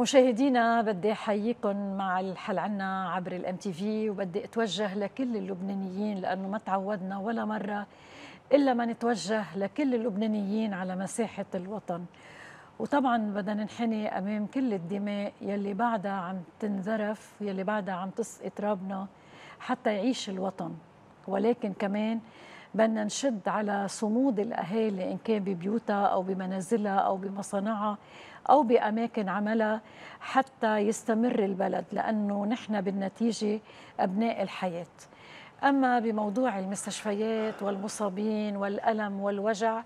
مشاهدينا بدي احييكم مع الحل عنا عبر الام تي في، وبدي اتوجه لكل اللبنانيين لانه ما تعودنا ولا مره الا ما نتوجه لكل اللبنانيين على مساحه الوطن. وطبعا بدنا ننحني امام كل الدماء يلي بعدها عم تنذرف، يلي بعدها عم تسقط رابنا حتى يعيش الوطن. ولكن كمان بدنا نشد على صمود الاهالي ان كان ببيوتها او بمنازلها او بمصانعها أو بأماكن عملها حتى يستمر البلد، لأنه نحن بالنتيجة أبناء الحياة. أما بموضوع المستشفيات والمصابين والألم والوجع،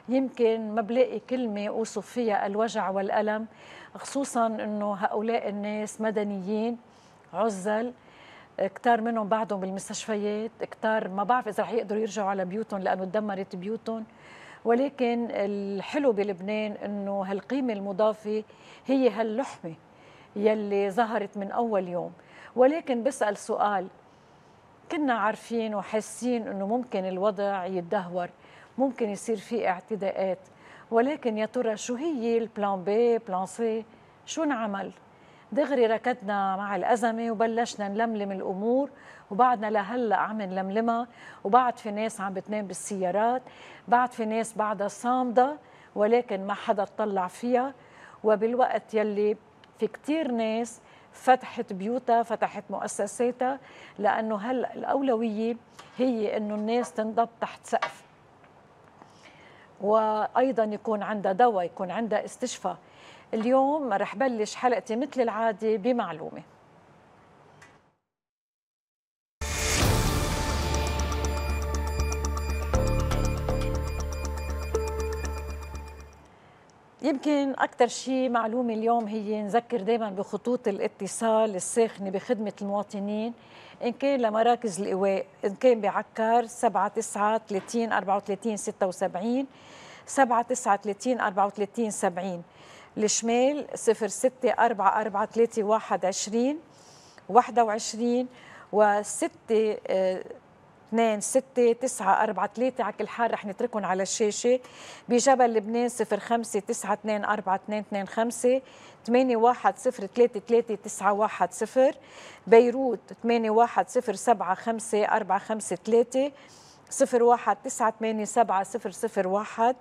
يمكن ما بلاقي كلمة أوصف فيها الوجع والألم، خصوصاً أنه هؤلاء الناس مدنيين عزل، كتار منهم بعدهم بالمستشفيات، كتار ما بعرف إذا رح يقدروا يرجعوا على بيوتهم لأنه تدمرت بيوتهم. ولكن الحلو بلبنان انه هالقيمه المضافه هي هاللحمه يلي ظهرت من اول يوم. ولكن بسال سؤال، كنا عارفين وحاسين انه ممكن الوضع يتدهور، ممكن يصير في اعتداءات، ولكن يا ترى شو هي البلان بي بلان سي؟ شو نعمل؟ دغري ركضنا مع الأزمة وبلشنا نلملم الأمور، وبعدنا لهلأ عم نلملمها، وبعد في ناس عم بتنام بالسيارات، بعد في ناس بعدها صامدة ولكن ما حدا اطلع فيها. وبالوقت يلي في كتير ناس فتحت بيوتها، فتحت مؤسساتها، لأنه هلأ الأولوية هي أنه الناس تنضب تحت سقف، وأيضا يكون عندها دواء، يكون عندها استشفاء. اليوم رح بلش حلقتي مثل العادة بمعلومة. يمكن أكثر شيء معلومة اليوم هي نذكر دائما بخطوط الاتصال الساخنة بخدمة المواطنين، إن كان لمراكز الإيواء، إن كان بعكار 79 30 34 76، 79 30 34 70. الشمال 06 44 31 21 و6 2 6 9 4 3. على كل حال رح نتركهم على الشاشة. بجبل لبنان 05 9 2 4 2 2 5 8 1 0 3 3 9 1 0. بيروت 8 1 0 7 5 4 5 3 01 9 8 7 0 0 1.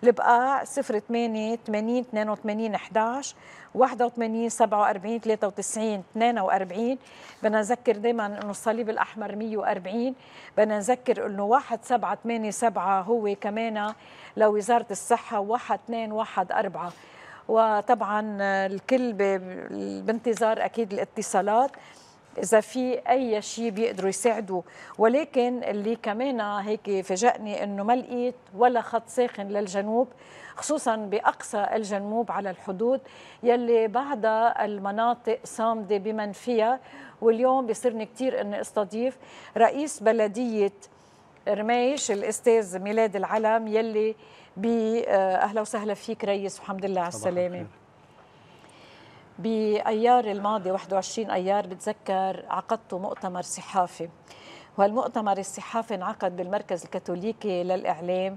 البقاع 08 80 82 11 81 47 93 42. بدنا نذكر دائما انه الصليب الاحمر 140. بدنا نذكر انه 1787 هو كمان لوزاره الصحه، 1214. وطبعا الكل بانتظار اكيد الاتصالات إذا في أي شيء بيقدروا يساعدوا. ولكن اللي كمان هيك فاجأني إنه ما لقيت ولا خط ساخن للجنوب، خصوصا بأقصى الجنوب على الحدود يلي بعدها المناطق صامدة بمن فيها. واليوم بيصيرني كتير إني استضيف رئيس بلدية رميش الأستاذ ميلاد العلم، يلي أهلا وسهلا فيك رئيس، والحمد لله على السلامة. بأيار الماضي 21 أيار بتذكر عقدتوا مؤتمر صحافي، وهالمؤتمر الصحافي انعقد بالمركز الكاثوليكي للإعلام.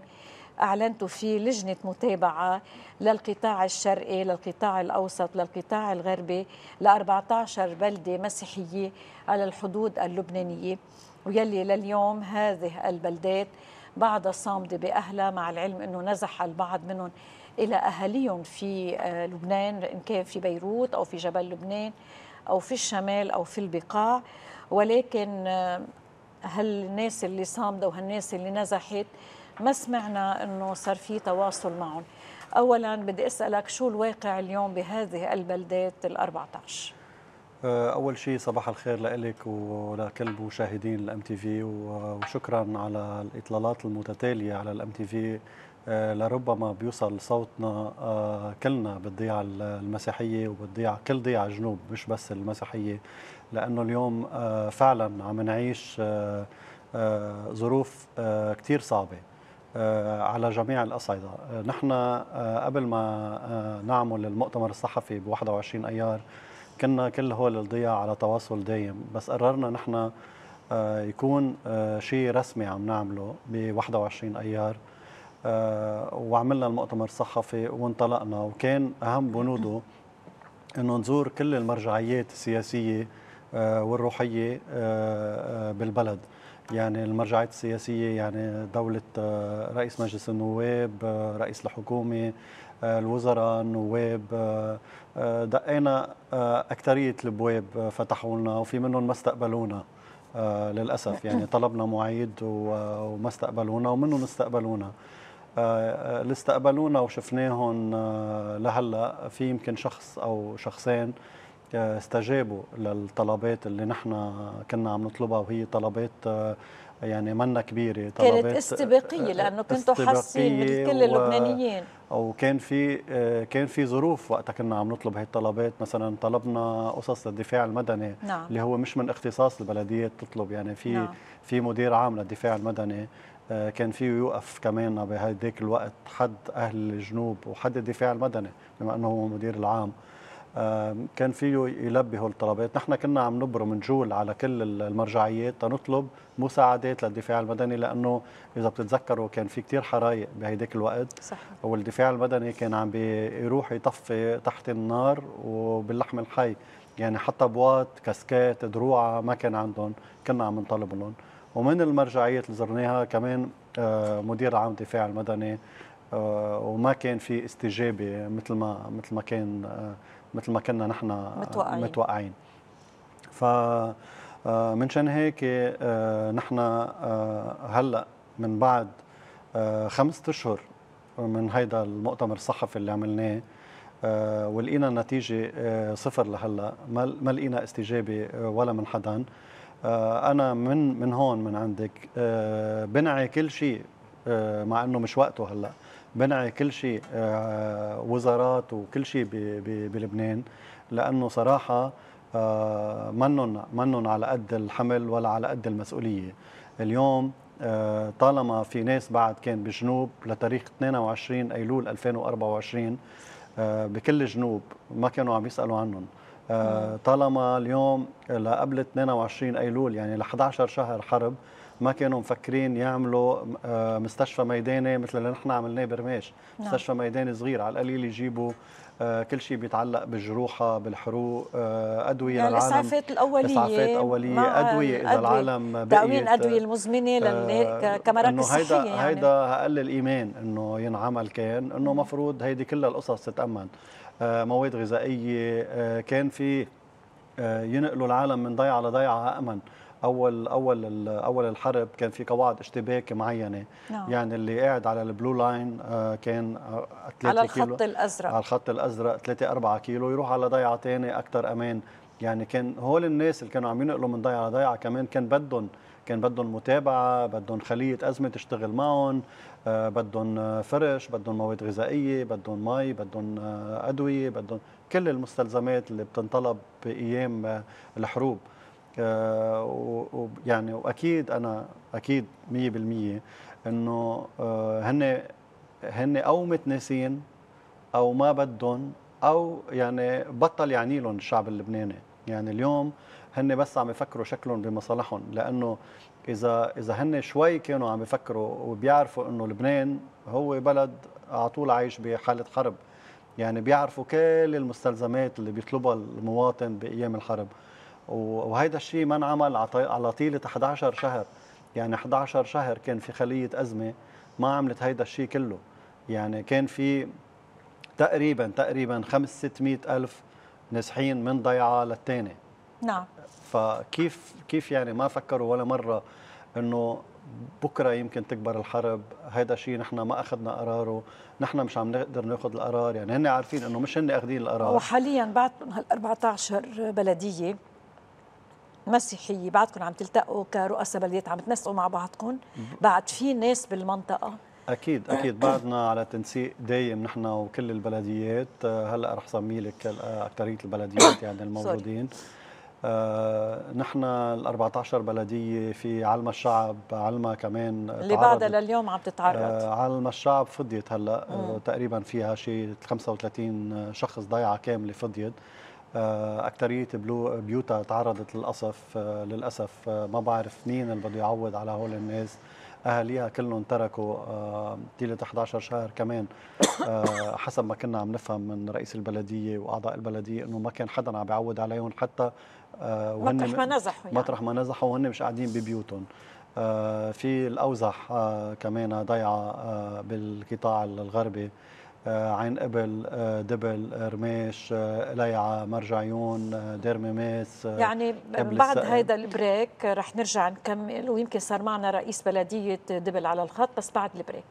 أعلنتوا فيه لجنة متابعة للقطاع الشرقي، للقطاع الأوسط، للقطاع الغربي، ل 14 بلدة مسيحية على الحدود اللبنانية، ويلي لليوم هذه البلدات بعدها صامدة بأهلها، مع العلم أنه نزح البعض منهم إلى أهاليهم في لبنان، إن كان في بيروت أو في جبل لبنان أو في الشمال أو في البقاع. ولكن هالناس اللي صامدة وهالناس اللي نزحت ما سمعنا أنه صار في تواصل معهم. أولا بدي أسألك شو الواقع اليوم بهذه البلدات ال14؟ أول شيء صباح الخير لك ولكل مشاهدين الام تي في، وشكرا على الإطلالات المتتالية على الام تي في. لربما بيوصل صوتنا كلنا بالضيعة المسيحية وبالضيعة كل ضيعة جنوب، مش بس المسيحية، لأنه اليوم فعلا عم نعيش ظروف كتير صعبة على جميع الأصعدة. نحن قبل ما نعمل المؤتمر الصحفي ب 21 أيار كنا كل هول الضياع على تواصل دايم، بس قررنا نحن يكون شيء رسمي عم نعمله ب 21 أيار. وعملنا المؤتمر الصحفي وانطلقنا، وكان أهم بنوده انه نزور كل المرجعيات السياسيه والروحيه بالبلد. يعني المرجعيات السياسيه يعني دوله رئيس مجلس النواب، رئيس الحكومه، الوزراء، النواب. دقينا اكثريه الابواب فتحوا لنا، وفي منهم ما استقبلونا للاسف. يعني طلبنا مواعيد وما استقبلونا، ومنهم استقبلونا. اللي استقبلونا وشفناهم لهلا في يمكن شخص او شخصين استجابوا للطلبات اللي نحن كنا عم نطلبها، وهي طلبات يعني منا كبيره، طلبات كانت استباقيه لانه كنتوا حاسين مثل كل اللبنانيين. وكان في ظروف وقتها كنا عم نطلب هي الطلبات. مثلا طلبنا قصص للدفاع المدني، نعم. اللي هو مش من اختصاص البلديات تطلب. يعني في مدير عام للدفاع المدني كان فيه يوقف كمان بهديك الوقت حد اهل الجنوب وحد الدفاع المدني بما انه هو مدير العام. كان فيه يلبي هول الطلبات. نحن كنا عم نبرم نجول على كل المرجعيات تنطلب مساعدات للدفاع المدني، لانه اذا بتتذكروا كان في كتير حرايق بهيديك الوقت. صح. والدفاع المدني كان عم بيروح يطفي تحت النار وباللحم الحي. يعني حتى بواط، كاسكات، دروعه ما كان عندهم، كنا عم نطالب لهم. ومن المرجعيات اللي زرناها كمان مدير عام الدفاع المدني، وما كان في استجابه مثل ما كنا نحن متوقعين. فمنشان هيك نحن هلا من بعد 5 أشهر من هيدا المؤتمر الصحفي اللي عملناه، ولقينا النتيجه 0 لهلا، ما لقينا استجابه ولا من حدا. أنا من هون من عندك بنعي كل شيء، مع أنه مش وقته هلأ، بنعي كل شيء وزارات وكل شيء بلبنان، لأنه صراحة منن على قد الحمل ولا على قد المسؤولية. اليوم طالما في ناس بعد كان بجنوب لتاريخ 22 أيلول 2024 بكل جنوب ما كانوا عم يسألوا عنهم. طالما اليوم لقبل 22 أيلول يعني ل 11 شهر حرب ما كانوا مفكرين يعملوا مستشفى ميداني مثل اللي نحن عملناه برماش. مستشفى ميداني صغير على القليل يجيبوا كل شيء بيتعلق بالجروحة، بالحروق، أدوية يعني للعالم، الإسعافات الأولية، أدوية إذا العالم بقيت، تأمين الأدوية المزمنة كمراكز صحية. يعني هيدا أقل الإيمان إنه ينعمل، كان إنه مفروض هيدي كل القصص تتأمن. مواد غذائية، كان في ينقلوا العالم من ضيعة لضيعة أأمن. أول الحرب كان في قواعد اشتباك معينة. يعني اللي قاعد على البلو لاين كان 3 كيلو على الخط الأزرق، على الخط الأزرق 3-4 كيلو يروح على ضيعة تاني أكثر أمان. يعني كان هول الناس اللي كانوا عم ينقلوا من ضيعة لضيعة كمان كان بدهم متابعة، بدهم خلية أزمة تشتغل معهم، بدهم فرش، بدهم مواد غذائية، بدهم مي، بدهم أدوية، بدهم كل المستلزمات اللي بتنطلب بأيام الحروب. يعني وأكيد أنا أكيد 100% إنه هن أو متناسين أو ما بدهم، أو يعني بطل يعني لهم الشعب اللبناني. يعني اليوم هن بس عم يفكروا شكلهم بمصالحهم، لأنه إذا هن شوي كانوا عم يفكروا وبيعرفوا إنه لبنان هو بلد على طول عايش بحالة حرب. يعني بيعرفوا كل المستلزمات اللي بيطلبها المواطن بأيام الحرب، وهيدا الشيء ما انعمل على طيلة 11 شهر. يعني 11 شهر كان في خلية أزمة ما عملت هيدا الشيء كله. يعني كان في تقريبا 500-600 ألف نازحين من ضيعة للتاني. نعم. فكيف يعني ما فكروا ولا مرة انه بكره يمكن تكبر الحرب؟ هيدا شيء نحن ما اخذنا قراره، نحن مش عم نقدر ناخذ القرار. يعني هن عارفين انه مش هن اخذين القرار. وحاليا بعدكم هال 14 بلديه مسيحيه بعدكم عم تلتقوا كرؤساء بلديات، عم تنسقوا مع بعضكم؟ بعد في ناس بالمنطقه؟ اكيد بعدنا على تنسيق دايم نحن وكل البلديات. هلا رح سمي لك اكثريه البلديات يعني الموجودين. نحن ال 14 بلديه في علما الشعب، علما كمان اللي بعدها لليوم عم تتعرض. علما الشعب فضيت هلا تقريبا فيها شيء 35 شخص ضيعه كامله فضيت. اكثريه بيوتها تعرضت للاسف ما بعرف مين اللي بده يعوض على هول الناس. اهاليها كلهم تركوا طيله 11 شهر كمان. حسب ما كنا عم نفهم من رئيس البلديه واعضاء البلديه انه ما كان حدا عم بيعود عليهم حتى مطرح ما نزحوا يعني. مطرح ما نزحوا وهن مش قاعدين ببيوتهم. في الأوزح كمان ضيعة بالقطاع الغربي، عين قبل، دبل، رميش، ليعة، مرج عيون، دير ميميس. يعني بعد هيدا البريك رح نرجع نكمل، ويمكن صار معنا رئيس بلدية دبل على الخط، بس بعد البريك.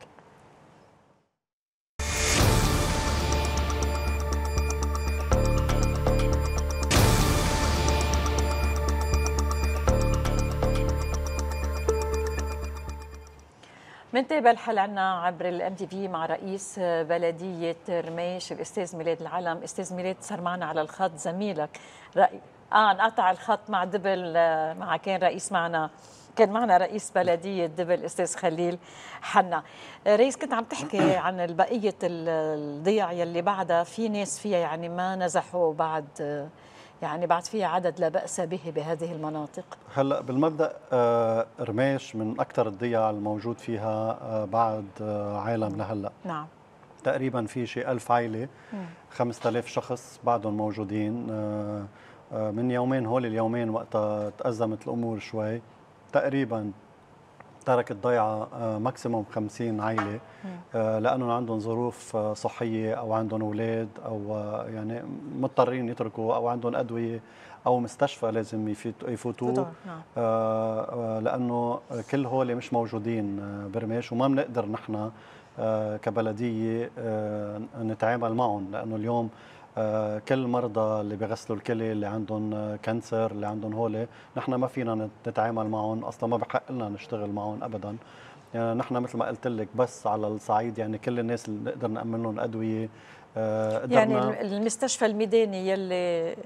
منتابع الحل عنا عبر الام تي في مع رئيس بلديه رميش الاستاذ ميلاد العلم. استاذ ميلاد، صار معنا على الخط زميلك انقطع الخط مع دبل، كان معنا رئيس بلديه دبل الاستاذ خليل حنا. رئيس، كنت عم تحكي عن بقيه الضيع يلي بعدها في ناس فيها يعني ما نزحوا بعد، يعني بعد فيها عدد لا بأس به بهذه المناطق. هلا بالمبدأ رميش من أكثر الضياع الموجود فيها بعد عالم لهلا. نعم. تقريبا في شيء 1000 عائلة، 5000 شخص بعدهم موجودين. من يومين، هول اليومين وقتها تأزمت الأمور شوي، تقريبا تركت ضيعة ماكسيموم 50 عائلة، لأنهم عندهم ظروف صحية أو عندهم أولاد أو يعني مضطرين يتركوا، أو عندهم أدوية أو مستشفى لازم يفوتوه. لأنه كل هول مش موجودين برميش، وما بنقدر نحن كبلدية نتعامل معهم، لأنه اليوم كل مرضى اللي بيغسلوا الكلى، اللي عندهم كانسر، اللي عندهم هولي، نحن ما فينا نتعامل معهم اصلا، ما بحق لنا نشتغل معهم ابدا. يعني نحن مثل ما قلت لك بس على الصعيد، يعني كل الناس اللي نقدر نأمن لهم ادويه. يعني المستشفى الميداني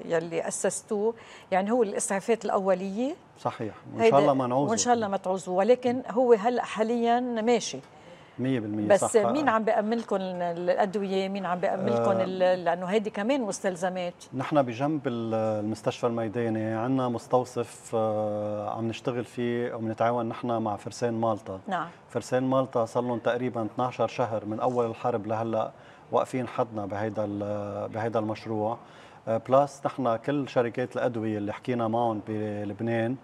يلي اسستوه يعني هو الاسعافات الاوليه. صحيح، وان شاء الله ما نعوزه، وان شاء الله ما تعوزوه، ولكن هو هلا حاليا ماشي 100%. بس صح. مين عم بيأمن لكم الأدوية؟ مين عم بيأمن لكم لأنه هيدي كمان مستلزمات. نحن بجنب المستشفى الميداني عندنا مستوصف عم نشتغل فيه وبنتعاون نحن مع فرسان مالطا. نعم. فرسان مالطا صار لهم تقريبا 12 شهر من أول الحرب لهلا واقفين حدنا بهيدا المشروع. بلاس نحن كل شركات الأدوية اللي حكينا معهم بلبنان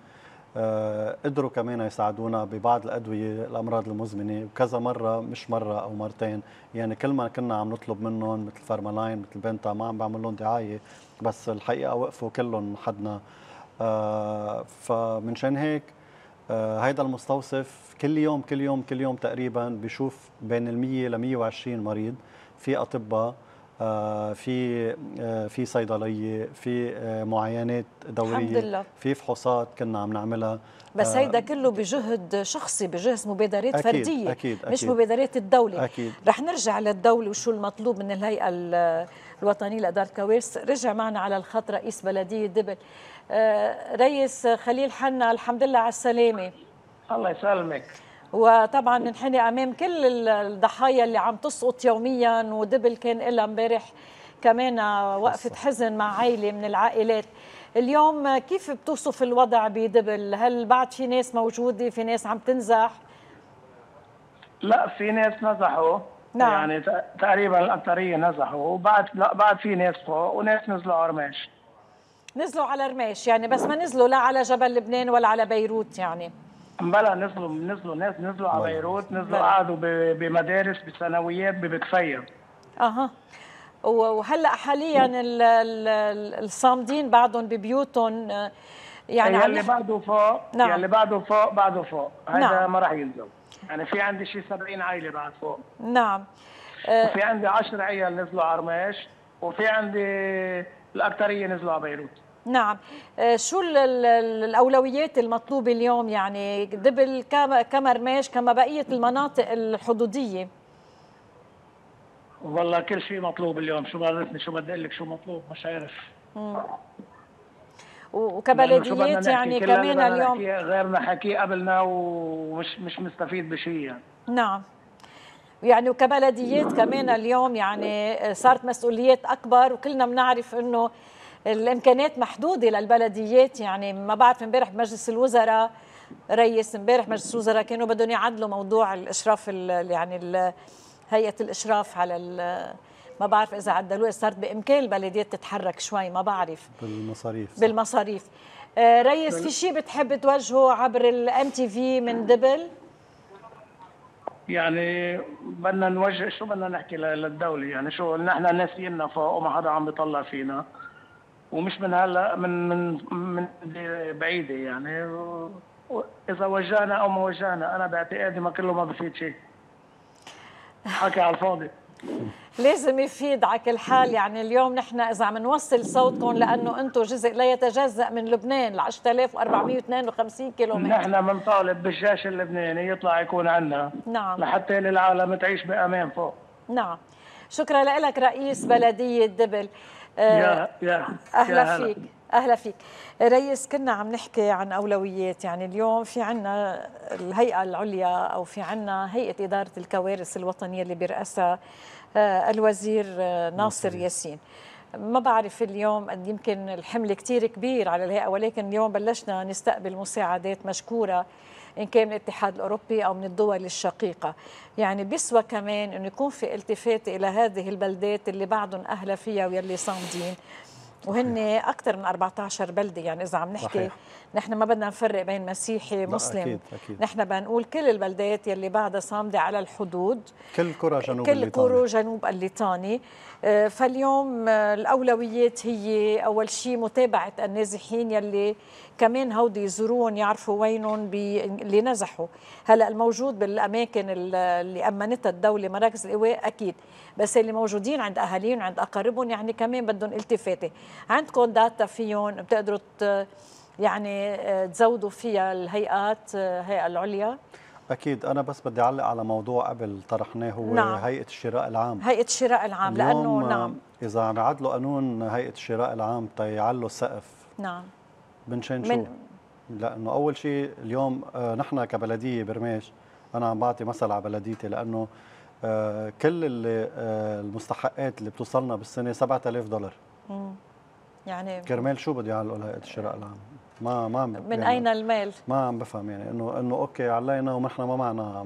قدروا كمان يساعدونا ببعض الأدوية الأمراض المزمنة، وكذا مرة، مش مرة أو مرتين. يعني كل ما كنا عم نطلب منهم مثل فارمالاين، مثل بنتا، ما عم بعمل لهم دعاية، بس الحقيقة وقفوا كلهم حدنا. فمنشان هيك هيدا المستوصف كل يوم تقريبا بيشوف بين 100 ل 120 مريض، في أطباء، في صيدليه، في معاينات دوريه، الحمد لله، في فحوصات كنا عم نعملها. بس هيدا كله بجهد شخصي، بجهد مبادرات أكيد فرديه، أكيد مش أكيد مبادرات الدوله. أكيد. رح نرجع للدوله وشو المطلوب من الهيئه الوطنيه لاداره الكوارث. رجع معنا على الخط رئيس بلديه دبل. رئيس خليل حنا، الحمد لله على السلامه. الله يسلمك. وطبعا ننحني امام كل الضحايا اللي عم تسقط يوميا، ودبل كان لها امبارح كمان وقفه حزن مع عائله من العائلات. اليوم كيف بتوصف الوضع بدبل؟ هل بعد في ناس موجوده، في ناس عم تنزح؟ لا، في ناس نزحوا. نعم. يعني تقريبا الاكثريه نزحوا، وبعد لا بعد في ناس فوق وناس نزلوا على رميش. نزلوا على رميش يعني، بس ما نزلوا لا على جبل لبنان ولا على بيروت يعني. بلا، نزلوا ناس، نزلوا على بيروت، نزلوا قعدوا بمدارس، بثانويات، ببكفيه. اها. وهلا حاليا الصامدين بعضهم ببيوتهم يعني يلي بعده فوق. نعم. يلي بعده فوق هذا نعم. ما راح ينزل. يعني في عندي شيء 70 عائله بعد فوق. نعم. وفي عندي 10 عيال نزلوا على رميش، وفي عندي الاكثريه نزلوا على بيروت. نعم. شو الأولويات المطلوبة اليوم يعني دبل كما رميش كما بقية المناطق الحدودية؟ والله كل شيء مطلوب اليوم. شو بعرفني شو بدي اقول لك، شو مطلوب مش عارف. وكبلديات يعني كمان اليوم غيرنا حكي قبلنا ومش مستفيد بشيء يعني. نعم. يعني وكبلديات كمان اليوم يعني صارت مسؤوليات أكبر، وكلنا بنعرف إنه الامكانيات محدوده للبلديات. يعني ما بعرف امبارح بمجلس الوزراء ريس امبارح مجلس الوزراء كانوا بدهم يعدلوا موضوع الاشراف هيئه الاشراف على ما بعرف اذا عدلوها، صارت بامكان البلديات تتحرك شوي، ما بعرف بالمصاريف. ريس، في شيء بتحب توجهه عبر الام تي في من دبل؟ يعني بدنا نوجه، شو بدنا نحكي للدوله؟ يعني شو نحن ناسينا فوق وما حدا عم بيطلع فينا، ومش من هلا، من بعيده يعني. اذا وجهنا او ما وجهنا، انا باعتقادي ما كله ما بفيد شيء، حكي على الفاضي. لازم يفيد على كل حال. يعني اليوم نحن اذا عم نوصل صوتكم، لانه انتم جزء لا يتجزأ من لبنان، ل 10452 كيلومتر. نحن بنطالب بالجيش اللبناني يطلع يكون عندنا، نعم، لحتى للعالم تعيش بامان فوق. نعم. شكرا لك رئيس بلديه دبل. اهلا فيك. اهلا فيك رئيس. كنا عم نحكي عن اولويات. يعني اليوم في عنا الهيئه العليا، او في عنا هيئه اداره الكوارث الوطنيه اللي بيرأسها الوزير ناصر ياسين. ما بعرف اليوم قد يمكن الحمل كتير كبير على الهيئه، ولكن اليوم بلشنا نستقبل مساعدات مشكوره، إن كان من الاتحاد الأوروبي أو من الدول الشقيقة. يعني بيسوى كمان أنه يكون في التفات إلى هذه البلدات اللي بعضهم أهلا فيها واللي صامدين، وهن أكثر من 14 بلدة. يعني إذا عم نحكي صحيح. نحن ما بدنا نفرق بين مسيحي مسلم، أكيد. نحن بنقول كل البلدات يلي بعدها صامدة على الحدود، كل قرى جنوب الليطاني. فاليوم الأولويات هي أول شيء متابعة النازحين يلي كمان هودي يزورون، يعرفوا وينهم اللي نزحوا. هلا الموجود بالأماكن اللي أمنتها الدولة، مراكز الإيواء أكيد، بس اللي موجودين عند أهاليهم عند أقاربهم يعني كمان بدهم التفاتة. عندكم داتا فيهم بتقدروا يعني تزودوا فيها الهيئات، هيئة العليا؟ أكيد. أنا بس بدي أعلق على موضوع قبل طرحناه، هو نعم. هيئة الشراء العام. هيئة الشراء العام، لأنه نعم إذا عم يعدلوا قانون هيئة الشراء العام تيعلوا السقف، نعم، بنشان شو؟ لأنه أول شيء اليوم نحن كبلدية برماش، أنا عم بعطي مثل على بلديتي، لأنه كل المستحقات اللي بتوصلنا بالسنة $7000. يعني كرمال شو بده يعلقوا هيئة الشراء العام؟ ما من يعني أين المال؟ ما عم بفهم. يعني انه اوكي علينا ونحن ما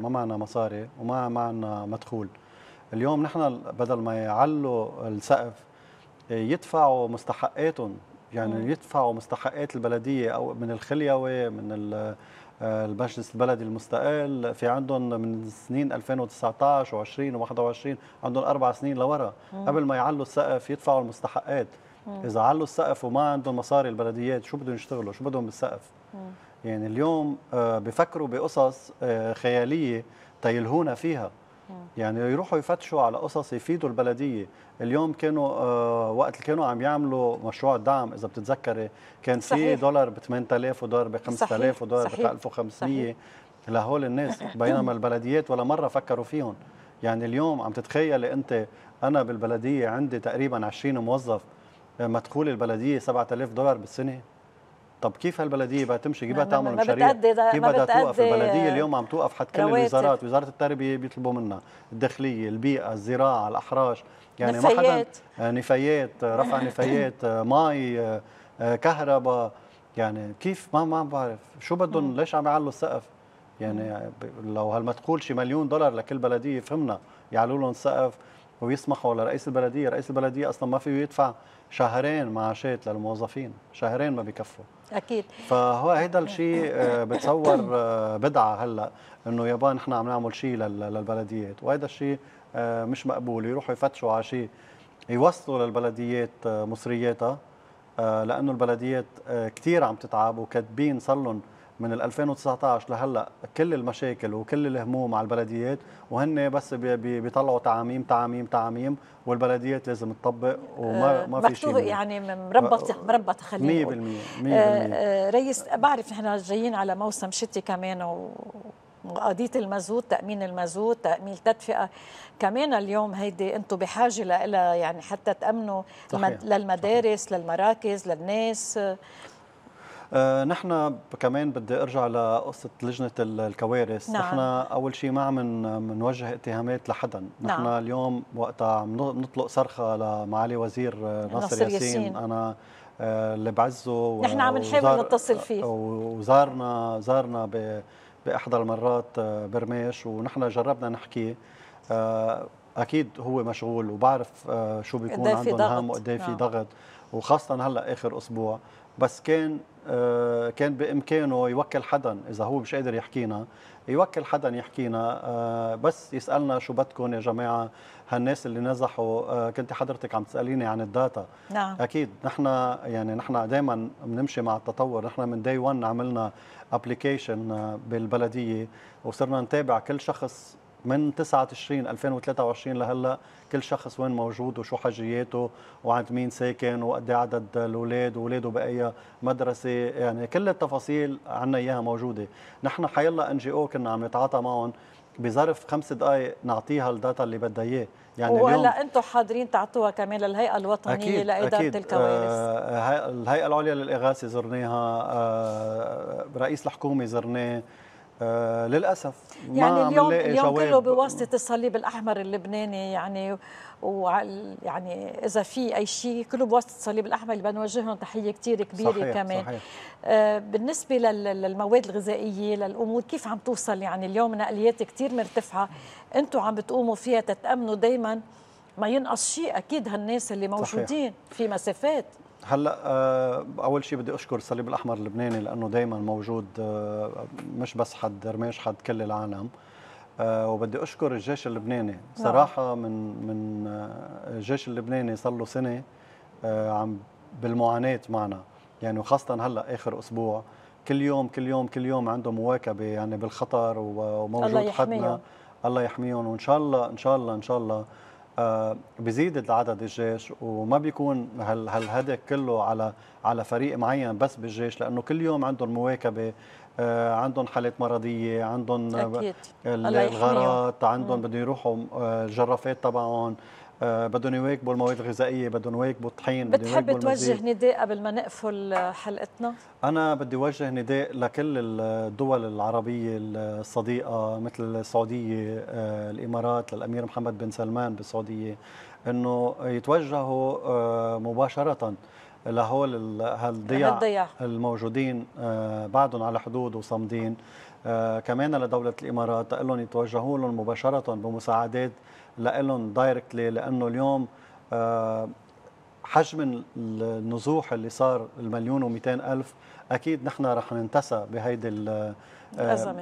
معنا مصاري وما معنا مدخول. اليوم نحن بدل ما يعلوا السقف يدفعوا مستحقاتهم، يعني يدفعوا مستحقات البلديه او من الخليوي، من المجلس البلدي المستقل. في عندهم من سنين 2019 و20 و21 عندهم 4 سنين لورا قبل ما يعلوا السقف يدفعوا المستحقات. إذا علوا السقف وما عندهم مصاري البلديات، شو بدهم يشتغلوا؟ شو بدهم بالسقف؟ يعني اليوم بفكروا بقصص خيالية تيلهونا فيها. يعني يروحوا يفتشوا على قصص يفيدوا البلدية. اليوم كانوا وقت اللي كانوا عم يعملوا مشروع الدعم، إذا بتتذكري، كان في دولار ب 8000 ودولار ب 5000 ودولار ب 1500 لهول الناس، بينما البلديات ولا مرة فكروا فيهم. يعني اليوم عم تتخيلي أنت، أنا بالبلدية عندي تقريبا 20 موظف، مدخول البلديه $7000 بالسنه. طب كيف هالبلديه بدها تمشي؟ كيف بدها تعمل مشاريع؟ كيف بدها توقف؟ البلديه اليوم عم توقف حد كل الوزارات، وزاره التربيه بيطلبوا منها، الداخليه، البيئه، الزراعه، الاحراش، يعني نفايات. ما حدا، نفايات، رفع نفايات، مي، كهرباء. يعني كيف؟ ما بعرف شو بدهم، ليش عم يعلوا السقف؟ يعني لو هالمدخول شي $1,000,000 لكل بلديه فهمنا، يعلوا لهم السقف ويسمحوا لرئيس البلديه. رئيس البلديه اصلا ما فيه يدفع شهرين معاشات للموظفين، شهرين ما بكفوا. اكيد. فهو هيدا الشيء بتصور بدعه هلا، انه يابا نحن عم نعمل شيء للبلديات، وهذا الشيء مش مقبول. يروحوا يفتشوا على شيء يوصلوا للبلديات مصرياتها، لانه البلديات كثير عم تتعب، وكاتبين صار لهم من 2019 لهلا كل المشاكل وكل الهموم على البلديات، وهن بس بيطلعوا تعاميم، والبلديات لازم تطبق، وما في شيء يعني مربط خلينا 100%. ريس، بعرف نحن جايين على موسم شتي كمان، وقضية المازوت، تأمين المازوت، تأمين التدفئة كمان اليوم هيدي انتم بحاجة لها، يعني حتى تأمنوا للمدارس، للمراكز، للناس. نحن كمان بدي ارجع لقصه لجنه الكوارث. نعم. نحن اول شيء ما عم نوجه اتهامات لحدا. نحن اليوم وقتها عم نطلق صرخه لمعالي وزير ناصر ياسين، انا اللي بعزه، نحن عم نحاول نتصل فيه، وزارنا باحدى المرات برميش، ونحن جربنا نحكي. اكيد هو مشغول، وبعرف شو بيكون عندهم هم وقد ايه في ضغط، وخاصه هلا اخر اسبوع. بس كان بامكانه يوكل حدا، اذا هو مش قادر يحكينا يوكل حدا يحكينا، بس يسالنا شو بدكم يا جماعه هالناس اللي نزحوا. كنت حضرتك عم تساليني عن الداتا. نعم. اكيد نحن دائما بنمشي مع التطور. نحن من داي 1 عملنا ابلكيشن بالبلديه، وصرنا نتابع كل شخص من 9 تشرين 2023 لهلا، كل شخص وين موجود وشو حاجياته وعند مين ساكن وقد ايه عدد الاولاد واولاده باي مدرسه. يعني كل التفاصيل عنا اياها موجوده. نحن حيلا NGO كنا عم نتعاطى معهم، بظرف 5 دقائق نعطيها الداتا اللي بدها اياه. يعني وهلا انتم حاضرين تعطوها كمان للهيئه الوطنيه أكيد لاداره أكيد. الكوارث. الهيئه العليا للاغاثه زرناها، رئيس الحكومه زرناه. للاسف يعني ما اليوم كله بواسطه الصليب الاحمر اللبناني، يعني يعني اذا في اي شيء كله بواسطه الصليب الاحمر، اللي بنوجه لهم تحيه كثير كبيره. صحيح كمان صحيح. بالنسبه للمواد الغذائيه للامور كيف عم توصل؟ يعني اليوم نقليات كثير مرتفعه، انتم عم بتقوموا فيها تتامنوا دائما ما ينقص شيء اكيد هالناس اللي موجودين. صحيح. في مسافات. هلا اول شيء بدي اشكر الصليب الاحمر اللبناني لانه دائما موجود، مش بس حد رميش، حد كل العالم. وبدي اشكر الجيش اللبناني صراحه. من الجيش اللبناني صار له سنه عم بالمعاناه معنا، يعني وخاصه هلا اخر اسبوع كل يوم عنده مواكبه يعني بالخطر، وموجود حدنا. الله يحميهم. وان شاء الله ان شاء الله ان شاء الله بزيد عدد الجيش، وما بيكون هالهدف كله على فريق معين بس بالجيش، لانه كل يوم عندهم مواكبه، عندهم حالات مرضيه، عندهم الغارات، عندهم بدهم يروحوا الجرافات تبعهم، بدهم يواكبوا المواد الغذائيه، بدهم يواكبوا الطحين. بتحب توجه نداء قبل ما نقفل حلقتنا؟ انا بدي اوجه نداء لكل الدول العربيه الصديقه مثل السعوديه، الامارات، للامير محمد بن سلمان بالسعوديه، انه يتوجهوا مباشره لهول هالضياع الموجودين بعدهم على حدود وصامدين. كمان لدوله الامارات تقول لهم يتوجهوا لهم مباشره بمساعدات لهم دايركتلي، لانه اليوم حجم النزوح اللي صار 1,200,000 اكيد نحن رح ننتسى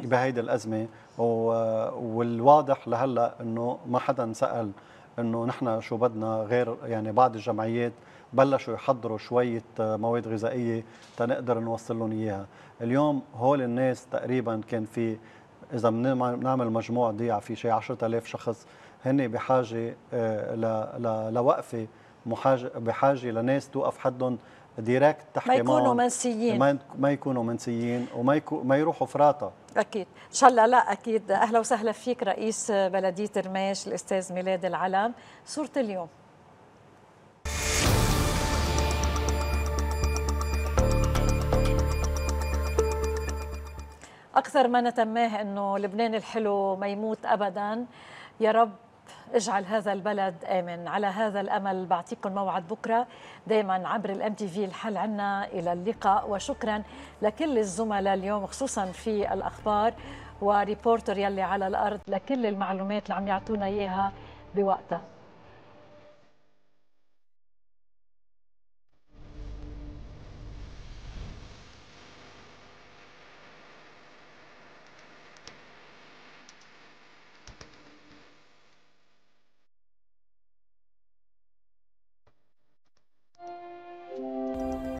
بهيدي الازمه. والواضح لهلا انه ما حدا سال انه نحن شو بدنا، غير يعني بعض الجمعيات بلشوا يحضروا شويه مواد غذائيه تنقدر نوصل لهم اياها. اليوم هول الناس تقريبا كان في، اذا بنعمل مجموع ضيع في شيء 10,000 شخص، هن بحاجه لوقفه، بحاجه لناس توقف حدهم ديريكت تحكي معهم، ما يكونوا منسيين، ما يكونوا منسيين، وما يروحوا فراطه. اكيد ان شاء الله. لا اكيد. اهلا وسهلا فيك رئيس بلديه رميش الاستاذ ميلاد العلم. صوره اليوم. اكثر ما نتماه انه لبنان الحلو ما يموت ابدا. يا رب اجعل هذا البلد آمن. على هذا الأمل بعطيكم موعد بكرة دايما عبر الMTV. الحل عنا. إلى اللقاء، وشكرا لكل الزملاء اليوم خصوصا في الأخبار وريبورتر يلي على الأرض لكل المعلومات اللي عم يعطونا إياها بوقتها.